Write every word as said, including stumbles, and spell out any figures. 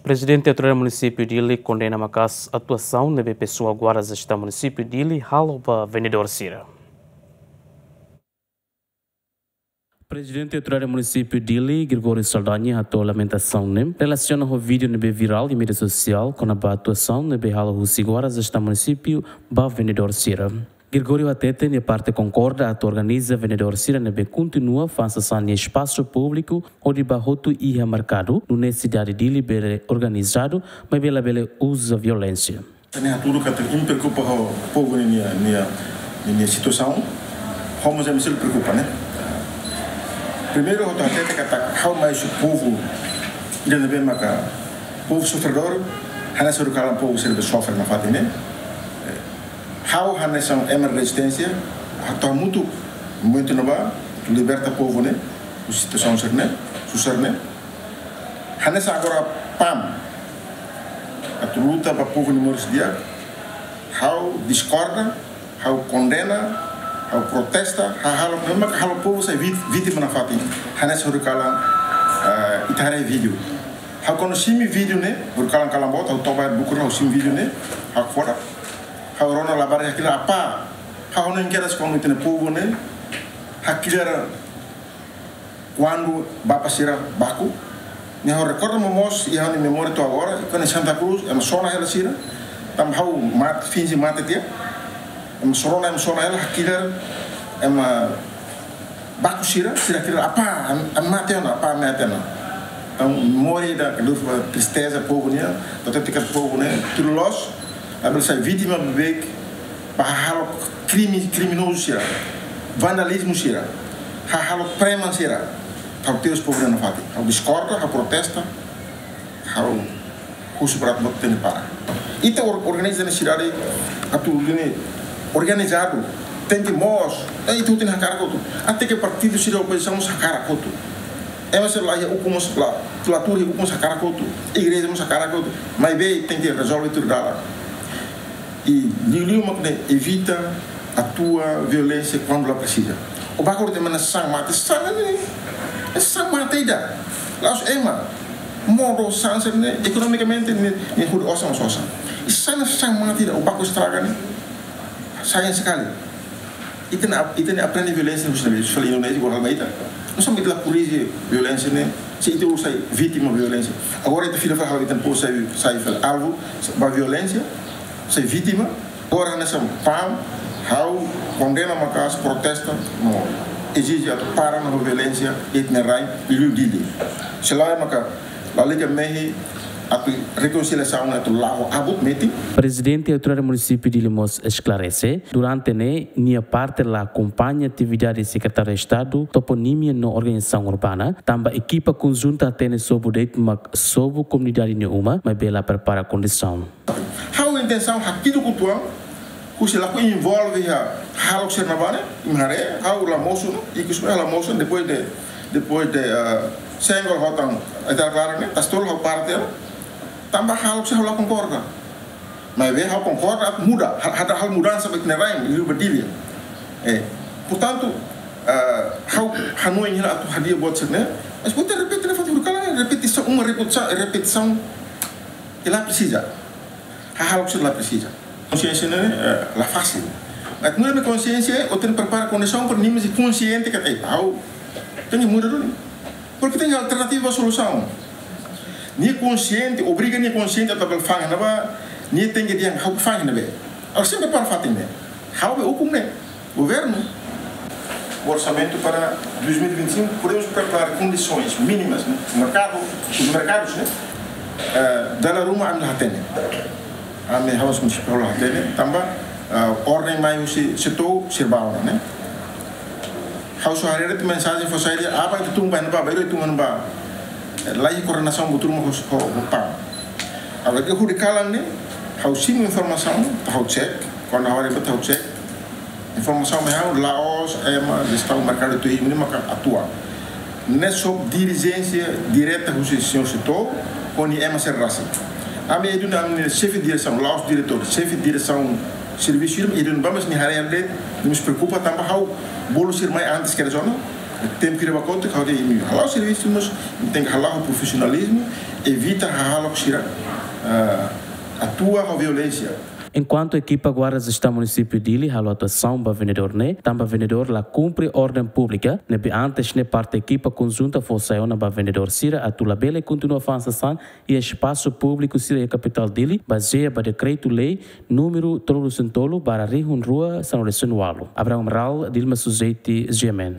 Prezidente Autoridade Munisípiu Dili kondena maka'as atuasaun ne'ebé pesoál Guarda Jestaun Munisípiu Dili halo ba vendedór sira. Prezidente Autoridade Munisípiu Dili, Gregório Saldanha, hato'o lamentasaun ne'e relasiona ho vídeo ne'ebé virál iha média sosiál kona-ba atuasaun ne'ebé halo husi Guarda Jestaun Munisípiu ba vendedór sira. Gregório hateten nia parte konkorda atu organiza vendedór sira ne'ebé kontinua fa'an sasán iha espasu públiku hodi bá hotu iha merkadu, nune'e sidade Dili bele organizadu, maibé labele uza violénsia. Ne'e hatudu katak imi preokupa ho povu nia, nia, nia, nia situasaun, ho mós imi sei preokupa, ne'e? Primeiru, ha'u hatete katak ha'u mai husi povu, ida ne'ebé maka povu sofredór, hanesan horibainhira povu sira ne'ebé sofre nafatin ne'e. Ha'u hanesan ema rezisténsia, ha'u hamutuk momentu ne'ebá, liberta povu ne'e, husi situasaun sira-ne'e, susar ne'e. Hanesan agora PAM, atu luta ba povu nia moris di'ak, ha'u diskorda, ha'u kondena, ha'u protesta, ha'u halo, memang halo povu sai vít-, vítima nafatin, hanesan horibainhira, eh, ita haree vídeo. Ha'u kuandu simu vídeo ne'e, horibainhira kalan boot, ha'u toba bukur ha'u simu vídeo ne'e, ha'u fora. Ha'u rona labarik hakilar apá. Ha'u hanoin kedas kuandu ita-nia povu ne'e hakilar kuandu bapa sira baku. Ne'e ha'u rekorda momoos, iha ha'u-nia memória to'o agora, iha Santa Cruz, ema sona hela sira. Tanba ha'u mat-, finje mate tiha. Ema sona, ema sona hela, hakilar, ema baku sira, sira hakilar apá, am-, ami mate ona, apá ami mate ona. Entaun, memória ida, ke lus ba tristeza povu nian, atu hatete katak povu ne'e, tuir loos, labele sai vítima bebeik, ba halo krime, kriminozu sira, vandalizmu sira, halo preman sira, ha'u tebes povu ne'e nafatin, ha'u diskorda, ha'u protesta, ha'u husu para atu tenke para. Ita or-, organiza nia sidade atu tenke organizadu, tenke moos, eh, ita tenke hakarak hotu. Até ke partidu sira opozisaun mós hakarak hotu. Ema sira la iha ukun mós la, la tuur iha ukun mós hakarak hotu. Igreja mós hakarak hotu. Maibé tenke rezolve tuir dalan. I liuliu mak ne'e evita atua violénsia kuandu la presiza. O bakor de mana sang mate, sang ne'e, sang mate ida. La'ós ema. Modo sang sira-ne'e, ekonomikamente, ne'e, ne'e hodi osan, osan. I sang ne'e sang mate ida, o bakor estraga ne'e. Sayang sekali. Ita-nia, ita-nia aprende violénsia husi ne'ebé, husi fali Indonézia, igual hal ba ita. Nusá mak ita la korrije violénsia ne'e, se ita uluk sai vítima violénsia. Agora ita fila fali halo ita-nia povu sai, sai fali alvu ba violénsia, sai vítima. Agora hanesan PAM, ha'u kondena maka'as, protesta, no ezije atu para ona ho violénsia iha ita-nia rain, liuliu Dili. Se lae maka lalika mehi atu rekonsiliasaun atu la'o abut metin. Prezidente Autoridade Munisípiu Dili mós esklarese, durante ne'e nia parte la akompaña atividade Sekretáriu Estadu Toponímia no Organizasaun Urbana, tanba ekipa konjunta hatene sobu de'it mak sobu komunidade nia uma, maibé la prepara kondisaun. Ha'u intensaun hakiduk uitoan, husi lakohi envolve iha hahalok sira-ne'ebá ne'e, imi haree, ha'u la mosu, no, ikus ha'u la mosu, depois de, depois de, ah, senggol hotu, ita klaran ne'e, tasi tolu ha'u parte, tanba hahalok sira ha'u la konkorda. Maibé ha'u konkorda, muda, ha-, halo mudansa ba ita-nia rain, liuliu ba Dili. Eh, portantu, ah, ha'u hanoin hela atu hadi'a buat sira-ne'e, mas buat repete, repete, repetisaun, uma repetisaun, repetisaun, ke la presiza. Hahalok sira la presiza. Konsiénsia ne'e, eh, la fasil. Mas muda nia konsiénsia, o tenke prepara kondisaun para nia mós konsiente katak, eh, ha'u tenke muda duni. Porque tenke alternativa solusaun. Nia konsiente, obriga nia konsiente atu bele fa'an iha ne'ebá, nia tenke dehan ha'u fa'an iha ne'ebé. Ha'u sempre para fatin ne'e. Ha'u be ukun ne'e. Governu. Orsamentu para dois mil e vinte e cinco, podemos preparar condições mínimas, né? Merkadu, os mercados, né? Eh, dala ruma ami la hatene. Ami ha'u munisípiu la hatene, tanba, eh, orden mai husi SEATOU sira bá ona, né? Ha'u só haree de'it mensajen fó sai dehan, aban ita tun ba iha ne'ebá, bainhira ita tun ba iha ne'ebá. Eh, la iha koordenasaun buat ruma ho, ho, ho PAM. Agora ke hodi kalan ne'e, ha'u simu informasaun, ha'u cek, kuandu ha'u haree buat ha'u cek. Informasaun mai ha'u, la'ós ema jestaun merkadu turismu ne'e maka atua. Ne'e sob dirijénsia direta husi señór SEATOU, ho nia ema sira rasik. Ami iha duni ami-nia xefe diresaun, la'ós diretór, xefe diresaun servisu, iha duni ba, mas nia haree de'it, nia mós preokupa tanba ha'u bolu sira mai antes ke zona, Tempu kira bakote kau de imi hala'o servisu mós, tenke hala'o ho profisionalizmu, evita hahalok sira, ah, atua ho violénsia. Enkuantu ekipa Guarda Jestaun Munisípiu Dili halo atuasaun ba vendedór ne'e, tanba vendedór la kumpre orden públika, ne'ebé antes ne'e parte ekipa konjunta fó sai ona ba vendedór sira atu labele kontinua fa'an sasán iha espasu públiku sira iha kapitál Dili, bazeia ba dekretu-lei númeru tolunulu-resin-tolu barra rihun rua sanulu-resin-ualu. Abraham Amaral, Dilma Suzeti, G M N.